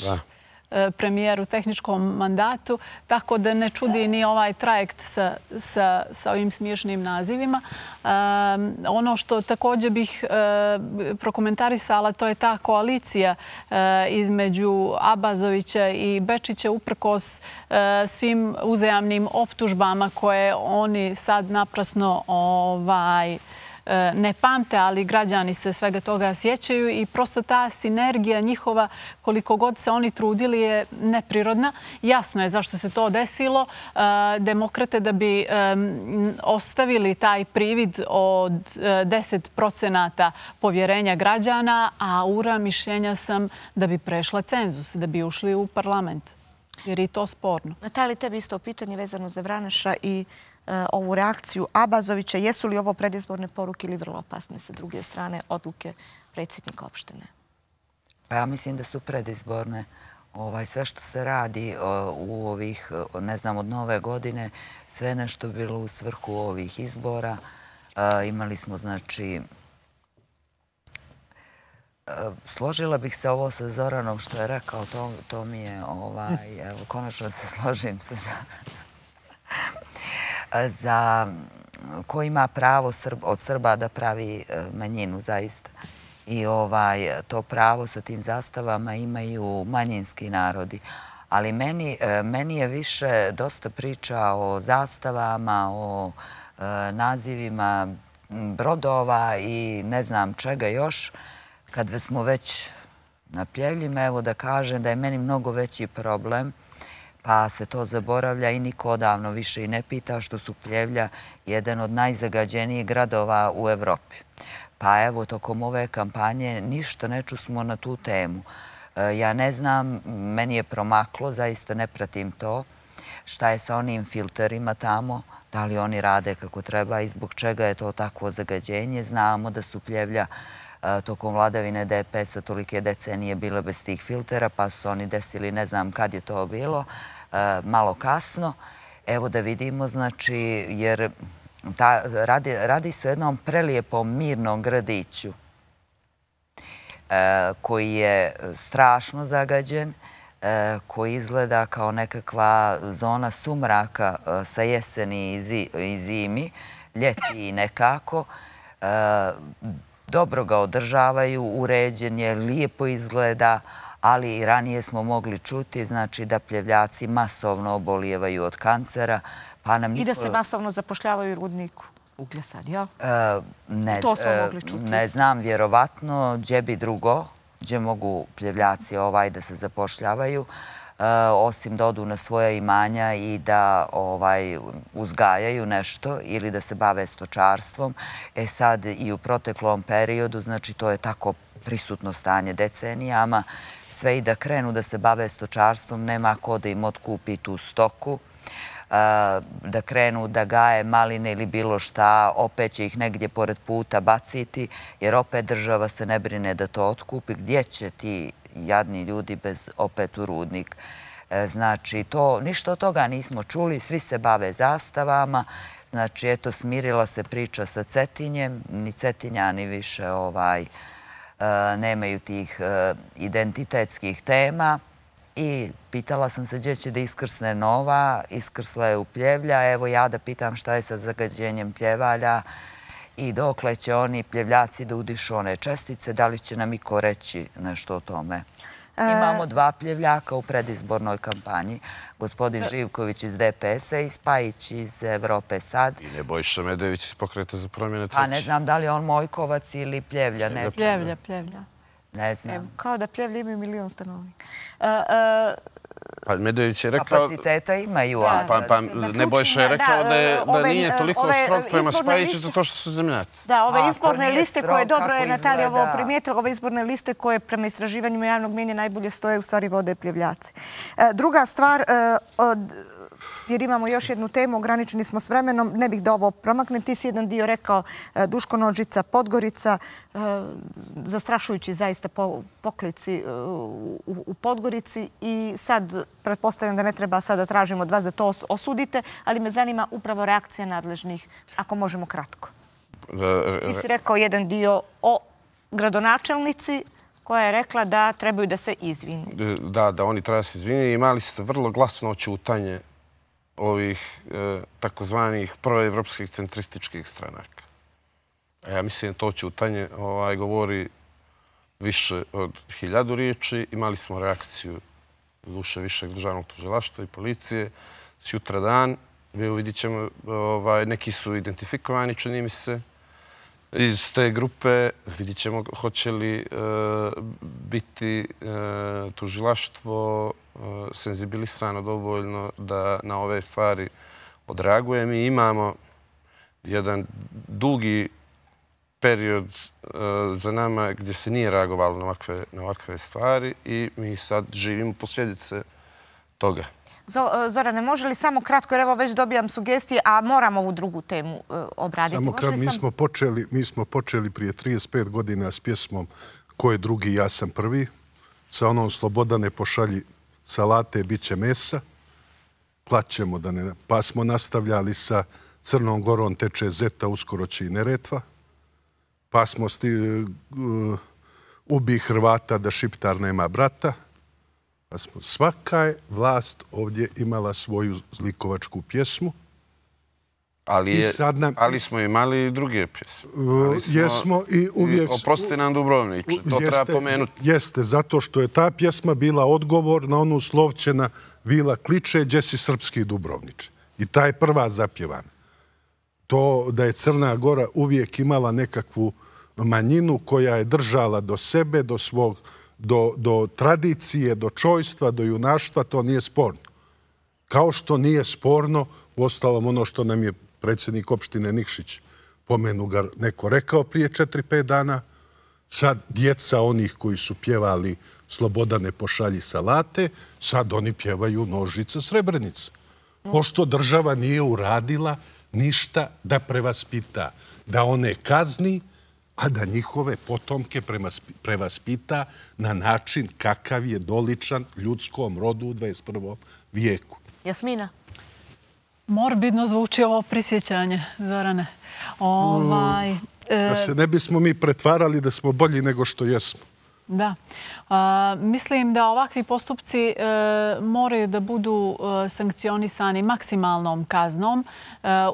premijer u tehničkom mandatu, tako da ne čudi ni ovaj trajekt sa, sa, sa ovim smiješnim nazivima. Um, ono što također bih uh, prokomentarisala, to je ta koalicija uh, između Abazovića i Bečića uprkos uh, svim uzajamnim optužbama koje oni sad naprasno ovaj, ne pamte, ali građani se svega toga sjećaju i prosto ta sinergija njihova, koliko god se oni trudili, je neprirodna. Jasno je zašto se to desilo. Demokrate da bi ostavili taj privid od deset procenata povjerenja građana, a ura mišljenja sam da bi prešla cenzus, da bi ušli u parlament. Jer je to sporno. Natalija, tebi isto pitanje vezano za Vraneša i ovu reakciju Abazovića. Jesu li ovo predizborne poruke ili vrlo opasne sa druge strane odluke predsjednika opštine? Pa ja mislim da su predizborne. Ovaj, sve što se radi u ovih, ne znam, od nove godine, sve nešto bilo u svrhu ovih izbora. Imali smo, znači, složila bih se ovo sa Zoranom što je rekao, to, to mi je, ovaj, evo, konačno se složim sa Zoranom. Za ko ima pravo od Srba da pravi manjinu zaista. I ovaj, to pravo sa tim zastavama imaju manjinski narodi. Ali meni, meni je više dosta priča o zastavama, o nazivima brodova i ne znam čega još. Kad smo već na Pljevljima, evo da kažem da je meni mnogo veći problem, pa se to zaboravlja i niko odavno više i ne pita, što su Pljevlja jedan od najzagađenijih gradova u Evropi. Pa evo, tokom ove kampanje ništa ne čusmo na tu temu. Ja ne znam, meni je promaklo, zaista ne pratim to, šta je sa onim filterima tamo, da li oni rade kako treba i zbog čega je to takvo zagađenje. Znamo da su Pljevlja tokom vladavine D P S-a tolike decenije bile bez tih filtera, pa su oni desili, ne znam kad je to bilo, malo kasno. Evo da vidimo, znači, jer ta, radi, radi se o jednom prelijepom mirnom gradiću koji je strašno zagađen, koji izgleda kao nekakva zona sumraka sa jeseni i zimi, ljeti i nekako. Dobro ga održavaju, uređen je, lijepo izgleda, ali i ranije smo mogli čuti, znači da Pljevljaci masovno obolijevaju od kancera. Pa nam I da se masovno zapošljavaju u rudniku uglja sad, ja? Ne, to smo mogli čuti. Ne znam, vjerovatno, gdje bi drugo, gdje mogu Pljevljaci ovaj da se zapošljavaju, osim da odu na svoja imanja i da ovaj, uzgajaju nešto ili da se bave stočarstvom. E sad i u proteklom periodu, znači to je tako prisutno stanje decenijama, sve i da krenu da se bave stočarstvom, nema ko da im otkupi tu stoku, da krenu da gaje maline ili bilo šta, opet će ih negdje pored puta baciti, jer opet država se ne brine da to otkupi. Gdje će ti jadni ljudi bez opet u rudnik? Znači, to, ništa od toga nismo čuli, svi se bave zastavama. Znači, eto, smirila se priča sa Cetinjem, ni Cetinjani više ovaj, nemaju tih identitetskih tema. I pitala sam se gdje će da iskrsne nova, iskrsla je u Pljevlja. Evo ja da pitam šta je sa zagađenjem Pljevalja i dokle će oni Pljevljaci da udišu one čestice, da li će nam iko reći nešto o tome. Imamo dva Pljevljaka u predizbornoj kampanji, gospodin Živković iz D P S-a i Spajić iz Evrope sad. I Nebojša Medojević iz Pokreta za promjene treći. Pa ne znam da li je on Mojkovac ili Pljevlja, ne znam. Pljevlja, Pljevlja. Ne znam. Kao da Pljevlja imaju milion stanovnika. Pa Medojević je rekao... Kapaciteta imaju, a Pa, pa Nebojša je rekao da, je, da nije toliko strog prema Spajiću zato što su zemljaci. Da, ove izborne liste koje, dobro je Natalija ovo primijetila, ove izborne liste koje prema istraživanjima javnog mjenja najbolje stoje, u stvari vode Pljevljaci. Druga stvar, jer imamo još jednu temu, ograničeni smo s vremenom, ne bih da ovo promaknem. Ti si jedan dio rekao Duško Nođica, Podgorica, zastrašujući zaista poklici u Podgorici i sad pretpostavljam da ne treba sada tražimo od vas da to osudite, ali me zanima upravo reakcija nadležnih, ako možemo kratko. Ti si rekao jedan dio o gradonačelnici koja je rekla da trebaju da se izvini. Da, da oni treba se izvini. Imali ste vrlo glasno oćutanje ovih takozvanih proevropskih centrističkih stranaka. Ja mislim da to oćutanje govori više od hiljadu riječi. Imali smo reakciju duše višeg državnog tužilaštva i policije sutra dan. Vidjet ćemo, neki su identifikovani, čini mi se, iz te grupe. Vidjet ćemo hoće li biti tužilaštvo senzibilisano dovoljno da na ove stvari odreaguje. Mi imamo jedan dugi period za nama gdje se nije reagovalo na ovakve stvari i mi sad živimo posljedice toga. Zorane, može li samo kratko, jer evo već dobijam sugestije, a moram ovu drugu temu obraditi. Samo kratko, mi smo počeli prije trideset pet godina s pjesmom Ko je drugi, ja sam prvi, sa onom Slobodane pošalji salate, bit će mesa, klaćemo da ne... Pa smo nastavljali sa Crnom Gorom teče Zeta, uskoro će i Neretva, pa smo ubi Hrvata da Šiptar nema brata. Svaka je vlast ovdje imala svoju zlikovačku pjesmu. Ali smo imali i druge pjesme. Jesmo i uvijek... Oprosti nam Dubrovniče, to treba pomenuti. Jeste, zato što je ta pjesma bila odgovor na onu Slovčena Vila kliče, gdje si srpski Dubrovniče. I ta je prva zapjevana. To da je Crna Gora uvijek imala nekakvu manjinu koja je držala do sebe, do svog do tradicije, do čojstva, do junaštva, to nije sporno. Kao što nije sporno, uostalom ono što nam je predsjednik opštine Nikšić pomenu ga neko rekao prije četiri pet dana, sad djeca onih koji su pjevali Slobodane pošalji salate, sad oni pjevaju Nožica Srebrenica. Pošto država nije uradila ništa da prevaspita, da one kazni, a da njihove potomke prevaspita na način kakav je doličan ljudskom rodu u dvadeset prvom vijeku. Jasmina? Morbidno zvuči ovo prisjećanje, Zorane. Da se ne bismo mi pretvarali da smo bolji nego što jesmo. Da. Mislim da ovakvi postupci moraju da budu sankcionisani maksimalnom kaznom,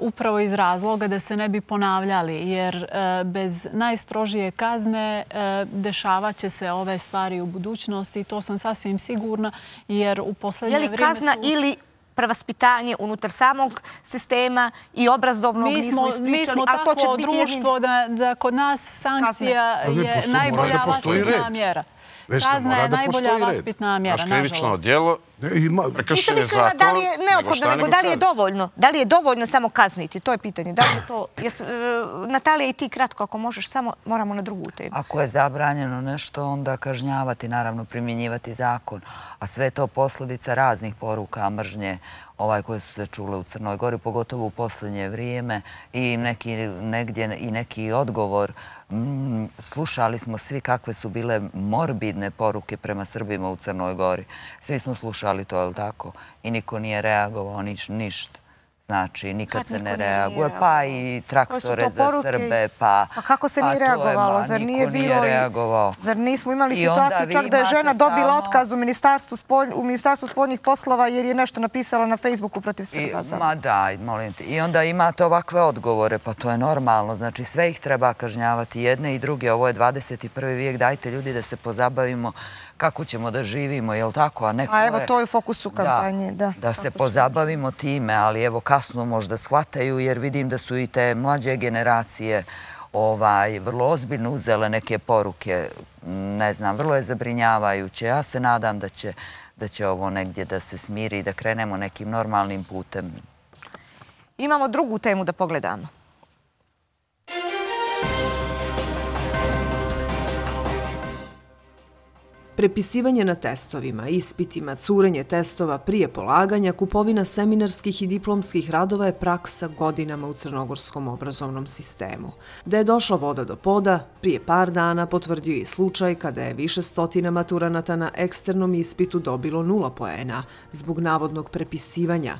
upravo iz razloga da se ne bi ponavljali, jer bez najstrožije kazne dešavat će se ove stvari u budućnosti i to sam sasvim sigurna, jer u poslednje vrijeme su... Je li kazna ili prevaspitanje unutar samog sistema i obrazovnog nismo ispričali? Mi smo takvo društvo da kod nas sankcija je najbolja vaspitna mjera. Kazna je najbolja vaspitna mjera, nažalost. Krivično djelo, prekršenje zakon, da li je neophodno, nego da li je dovoljno? Da li je dovoljno samo kazniti? To je pitanje. Da li je to... Natalija, i ti kratko, ako možeš, samo moramo na drugu temu. Ako je zabranjeno nešto, onda kažnjavati, naravno primjenjivati zakon. A sve je to posljedica raznih poruka mržnje koje su se čule u Crnoj Gori, pogotovo u posljednje vrijeme i negdje i neki odgovor. Slušali smo svi kakve su bile morbidne poruke prema Srbima u Crnoj Gori. Svi smo slušali to, je li tako? I niko nije reagovao ništa. Znači, nikad se ne reaguje. Pa i traktore za Srbe, pa... Pa kako se nije reagovalo? Zar nije bilo... Zar nismo imali situaciju čak da je žena dobila otkaz u Ministarstvu spoljnih poslova jer je nešto napisala na Facebooku protiv Srba? Ma da, molim te. I onda imate ovakve odgovore, pa to je normalno. Znači, sve ih treba kažnjavati, jedne i druge. Ovo je dvadeset prvi vijek, dajte ljudi da se pozabavimo kako ćemo da živimo, je li tako? A evo, to je u fokusu kampanje, da. Da se pozabavimo time, ali evo, kasno možda shvataju, jer vidim da su i te mlađe generacije vrlo ozbiljno uzele neke poruke. Ne znam, vrlo je zabrinjavajuće. Ja se nadam da će ovo negdje da se smiri i da krenemo nekim normalnim putem. Imamo drugu temu da pogledamo. Prepisivanje na testovima, ispitima, curenje testova prije polaganja, kupovina seminarskih i diplomskih radova je praksa godinama u crnogorskom obrazovnom sistemu. Da je došla voda do poda, prije par dana potvrdio i slučaj kada je više stotina maturanata na eksternom ispitu dobilo nula poena zbog navodnog prepisivanja.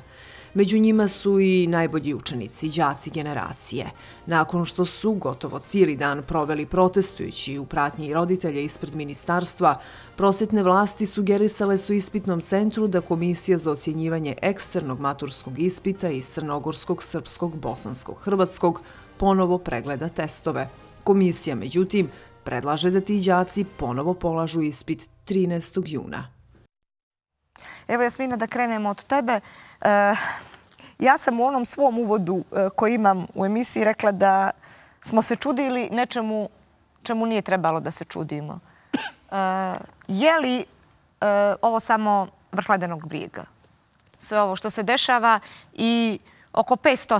Među njima su i najbolji učenici, đaci generacije. Nakon što su gotovo cijeli dan proveli protestujući u pratnji roditelja ispred ministarstva, prosvjetne vlasti sugerisale su ispitnom centru da Komisija za ocjenjivanje eksternog maturskog ispita iz crnogorskog, srpskog, bosanskog, hrvatskog ponovo pregleda testove. Komisija, međutim, predlaže da ti đaci ponovo polažu ispit trinaestog juna. Evo, Jasmina, da krenemo od tebe. Ja sam u onom svom uvodu koji imam u emisiji rekla da smo se čudili nečemu čemu nije trebalo da se čudimo. Je li ovo samo vrh ledenog brijega? Sve ovo što se dešava i oko petsto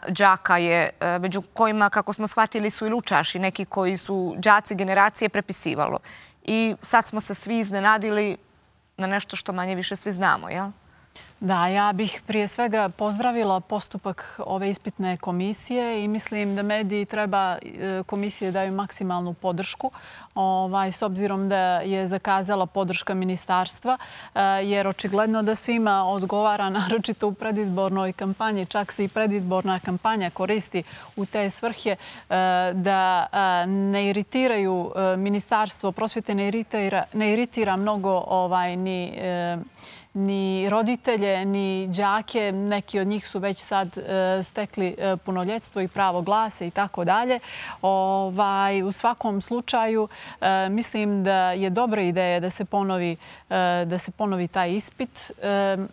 đaka je, među kojima, kako smo shvatili, su i lučaši, neki koji su đaci generacije, prepisivalo. I sad smo se svi iznenadili na nešto što manje više svi znamo, jel? Da, ja bih prije svega pozdravila postupak ove ispitne komisije i mislim da mediji treba komisije daju maksimalnu podršku s obzirom da je zakazala podrška ministarstva, jer očigledno da svima odgovara, naročito u predizbornoj kampanji, čak se i predizborna kampanja koristi u te svrhe, da ne iritiraju ministarstvo, prosvjete ne iritira mnogo ni ni roditelje, ni đake. Neki od njih su već sad stekli punoljetstvo i pravo glasa i tako dalje. U svakom slučaju mislim da je dobra ideja da se ponovi, da se ponovi taj ispit.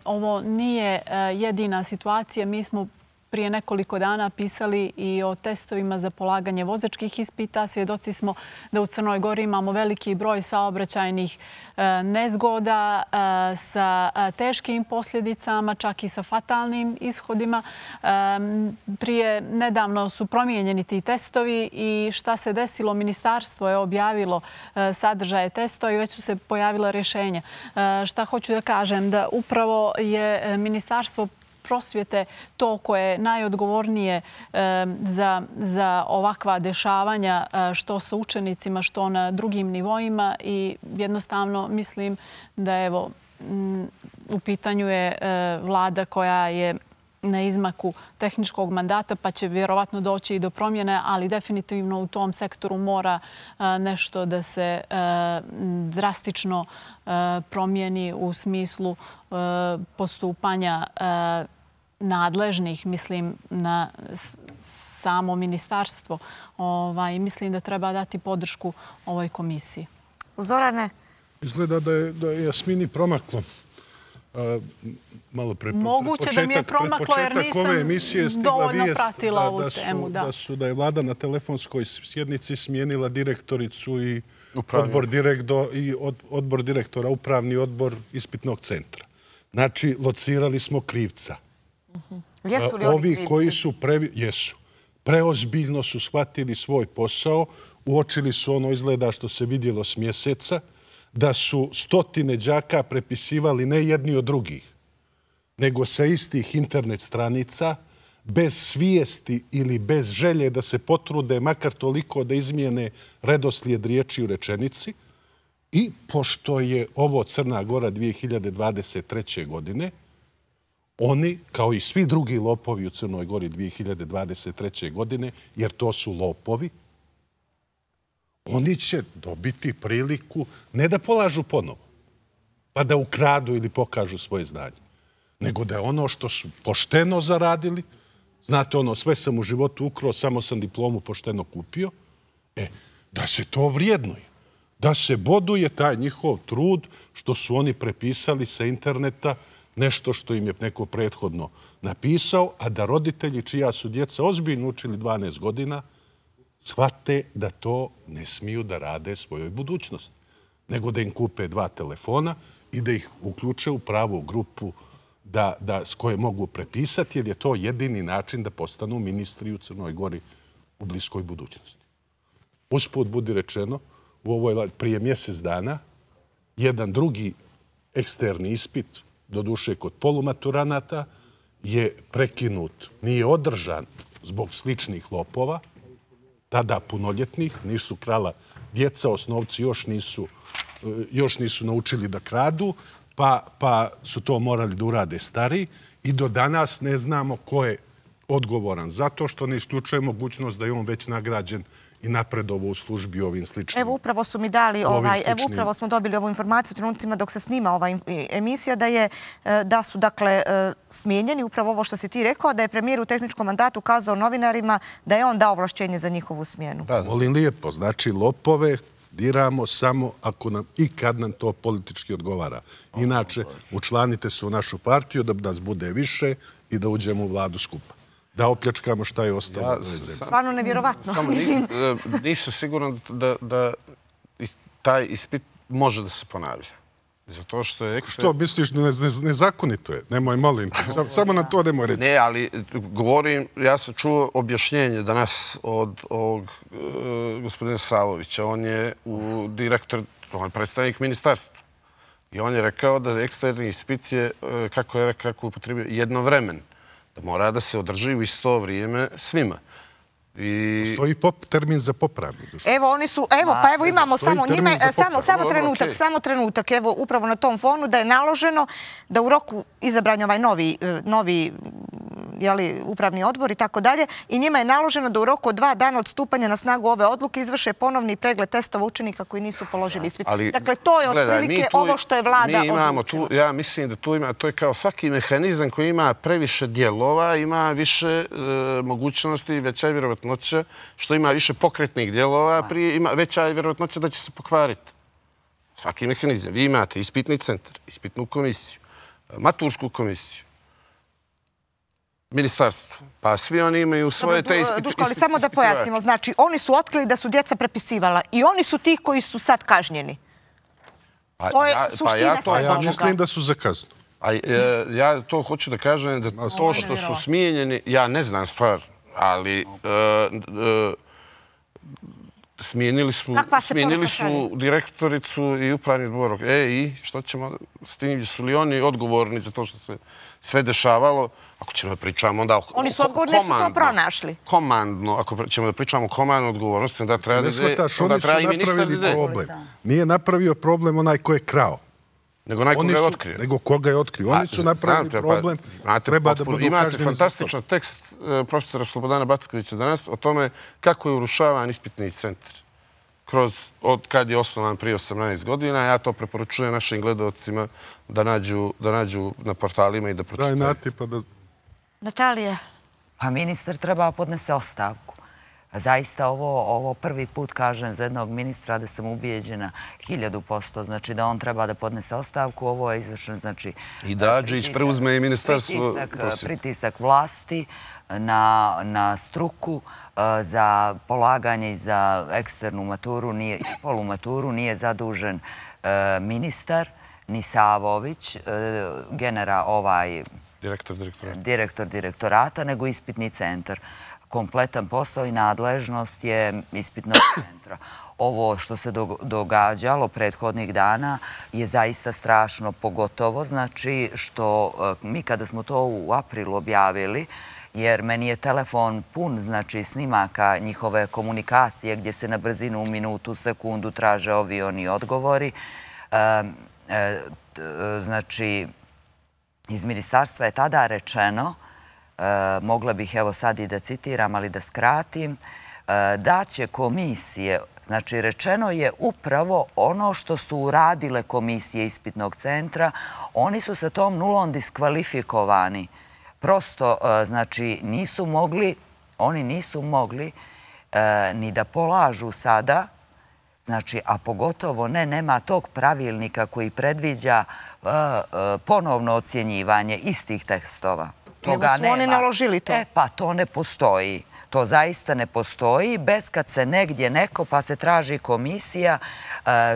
Ovo nije jedina situacija. Mi smo prije nekoliko dana pisali i o testovima za polaganje vozačkih ispita. Svjedoci smo da u Crnoj Gori imamo veliki broj saobraćajnih nezgoda sa teškim posljedicama, čak i sa fatalnim ishodima. Prije nedavno su promijenjeni ti testovi i šta se desilo? Ministarstvo je objavilo sadržaje testova i već su se pojavila rješenja. Šta hoću da kažem? Da upravo je Ministarstvo prosvjete to koje je najodgovornije za ovakva dešavanja, što sa učenicima, što na drugim nivoima, i jednostavno mislim da evo u pitanju je vlada koja je na izmaku tehničkog mandata, pa će vjerovatno doći i do promjene, ali definitivno u tom sektoru mora nešto da se drastično promijeni u smislu postupanja nadležnih, mislim, na samo ministarstvo. Mislim da treba dati podršku ovoj komisiji. Zorane? Izgleda da je Jasmini promaklo. Malo pre Moguće da mi je promaklo jer nisam dovoljno pratila ovu temu. Da je vlada na telefonskoj sjednici smijenila direktoricu i odbor direktora, upravni odbor ispitnog centra. Znači, locirali smo krivca. Jesu li oni krivci? Ovi koji su jesu. Preozbiljno su shvatili svoj posao, uočili su ono, izgleda što se vidjelo s mjeseca, da su stotine đaka prepisivali ne jedni od drugih, nego sa istih internet stranica, bez svijesti ili bez želje da se potrude makar toliko da izmijene redoslijed riječi u rečenici. I pošto je ovo Crna Gora dvije hiljade dvadeset treće. godine, oni, kao i svi drugi lopovi u Crnoj Gori dvije hiljade dvadeset treće. godine, jer to su lopovi, oni će dobiti priliku ne da polažu ponovo, pa da ukradu ili pokažu svoje znanje, nego da je ono što su pošteno zaradili, znate ono, sve sam u životu ukrao, samo sam diplomu pošteno kupio, e, da se to vrijednuje, da se boduje taj njihov trud što su oni prepisali sa interneta nešto što im je neko prethodno napisao, a da roditelji čija su djeca ozbiljno učili dvanaest godina, shvate da to ne smiju da rade svojoj budućnosti, nego da im kupe dva telefona i da ih uključe u pravu grupu s koje mogu prepisati, jer je to jedini način da postanu ministri u Crnoj Gori u bliskoj budućnosti. Usput budi rečeno, u ovoj prije mjesec dana jedan drugi eksterni ispit, doduše kod polumaturanata, je prekinut, nije održan zbog sličnih lopova, tada punoljetnih, nisu krala djeca, osnovci još nisu, još nisu naučili da kradu, pa, pa su to morali da urade stariji i do danas ne znamo ko je odgovoran. Zato što ne isključuje mogućnost da je on već nagrađen i napredovo u službi ovim sličnim. Evo upravo su mi dali, ovaj, evo upravo smo dobili ovu informaciju u trenucima dok se snima ova emisija da je da su dakle smijenjeni, upravo ovo što si ti rekao, da je premijer u tehničkom mandatu kazao novinarima da je on dao ovlašćenje za njihovu smjenu. Da, molim lijepo, znači lopove diramo samo ako nam i kad nam to politički odgovara. Inače, učlanite se u našu partiju da nas bude više i da uđemo u vladu skupa. Da opljačkamo šta je ostalo. Ja, stvarno nevjerovatno. Samo nisam siguran da, da taj ispit može da se ponavlja. Zato što je... Što misliš da nezakonito je? Nemoj, molim. Samo nam to nemoj reći. Ne, ali govorim, ja sam čuo objašnjenje danas od ovog gospodina Savovića. On je u direktor, on je predstavnik ministarstva. I on je rekao da eksterni ispit je, kako je rekao, kako upotrebio, jednovremen. Da mora da se održi u isto vrijeme svima. Stoji termin za popravni. Evo, oni su, evo, pa evo imamo samo njime, samo trenutak, samo trenutak, evo, upravo na tom fonu da je naloženo da u roku izabranja ovaj novi, novi, jeli, upravni odbor i tako dalje, i njima je naloženo da u roku od dva dana od stupanja na snagu ove odluke izvrše ponovni pregled testova učenika koji nisu položili ispit. Dakle, to je otprilike ovo što je vlada odlučila. Ja mislim da tu ima, to je kao svaki mehanizam koji ima previše dijelova, ima više mogućnosti, veća je vjerovatnoća, što ima više pokretnih dijelova, ima veća je vjerovatnoća da će se pokvariti. Svaki mehanizam. Vi imate ispitni centar, ispitnu komisiju, matursku komisiju, ministarstvo. Pa svi oni imaju svoje te ispite. Duško, ali samo da pojasnimo. Znači, oni su otkrili da su djeca prepisivala i oni su ti koji su sad kažnjeni. To je suština svega. Ja mislim da su za kaznu. Ja to hoću da kažem da to što su smijenjeni, ja ne znam stvar, ali smijenili su direktoricu i upravni odbor. E, i što ćemo s tim? Su li oni odgovorni za to što se sve dešavalo? Ako ćemo da pričamo onda... Oni su odgovorni što to pronašli. Komandno, ako ćemo da pričamo o komandnu odgovornosti, onda treba da... Ne shvataš, oni su napravili problem. Nije napravio problem onaj ko je krao. Nego onaj koga je otkrio. Nego koga je otkrio. Oni su napravili problem. Treba da budu kažnjeni. Imate fantastičan tekst profesora Slobodana Backovića danas o tome kako je urušavan ispitni centar. Kroz, od kad je osnovan prije osamnaest godina. Ja to preporučujem našim gledalcima da nađu, da nađu na portalima i da pročitaju. Daj Nati pa da... Natalija. Pa ministar treba podnese ostavku. Zaista ovo prvi put kažem za jednog ministra da sam ubijeđena hiljadu posto. Znači da on treba da podnese ostavku. Ovo je izvršen, znači... I da Adžić preuzme i ministarstvo... Pritisak vlasti na struku za polaganje i za eksternu maturu i polumaturu nije zadužen ministar, ni Savović, genera ovaj... Direktor direktorata, nego ispitni centar. Kompletan posao i nadležnost je ispitnog centra. Ovo što se događalo prethodnih dana je zaista strašno, pogotovo znači što mi kada smo to u aprilu objavili, jer meni je telefon pun znači snimaka njihove komunikacije gdje se na brzinu u minutu, sekundu traže ovi oni odgovori. Znači, iz ministarstva je tada rečeno, mogla bih evo sad i da citiram, ali da skratim, da će komisije, znači rečeno je upravo ono što su uradile komisije ispitnog centra, oni su sa tom nulom diskvalifikovani. Prosto, znači, nisu mogli, oni nisu mogli ni da polažu sada, znači, a pogotovo ne, nema tog pravilnika koji predviđa ponovno ocjenjivanje istih tekstova. Evo su oni naložili to. E, pa to ne postoji. To zaista ne postoji. Bez kad se negdje neko, pa se traži komisija,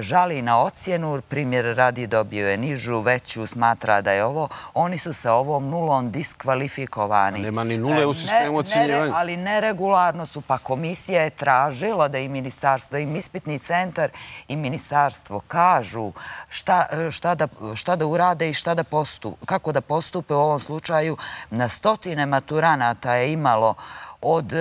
žali na ocjenu, primjer radi dobio je nižu, veću, smatra da je ovo, oni su sa ovom nulom diskvalifikovani. Nema ni nule u sistemu ocjenjivanja. Ali neregularno su, pa komisija je tražila da i ministarstvo, da im ispitni centar i ministarstvo kažu šta da urade i kako da postupe u ovom slučaju. Na stotine maturanata je imalo od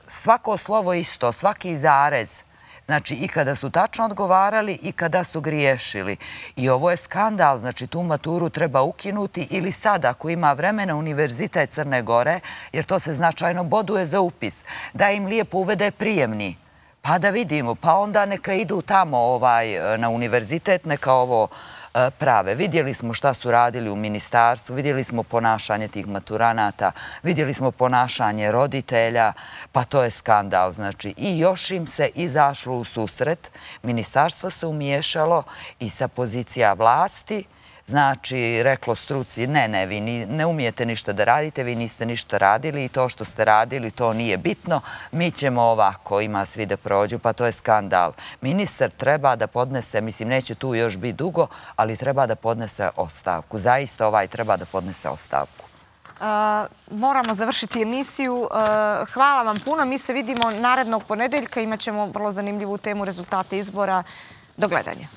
svako slovo isto, svaki zarez. Znači, i kada su tačno odgovarali i kada su griješili. I ovo je skandal, znači tu maturu treba ukinuti ili sad, ako ima vremena, Univerzitet Crne Gore, jer to se značajno boduje za upis, da im lijepo uvede prijemni. Pa da vidimo, pa onda neka idu tamo na univerzitet, neka ovo prave. Vidjeli smo šta su radili u ministarstvu, vidjeli smo ponašanje tih maturanata, vidjeli smo ponašanje roditelja, pa to je skandal. Znači, i još im se izašlo u susret, ministarstvo se umiješalo i sa pozicija vlasti, znači, reklo struci, ne, ne, vi ne umijete ništa da radite, vi niste ništa radili i to što ste radili, to nije bitno, mi ćemo ovako, ima svi da prođu, pa to je skandal. Ministar treba da podnese, mislim, neće tu još biti dugo, ali treba da podnese ostavku. Zaista ovaj treba da podnese ostavku. Moramo završiti emisiju. Hvala vam puno. Mi se vidimo narednog ponedeljka. Imaćemo vrlo zanimljivu temu rezultate izbora. Do gledanja.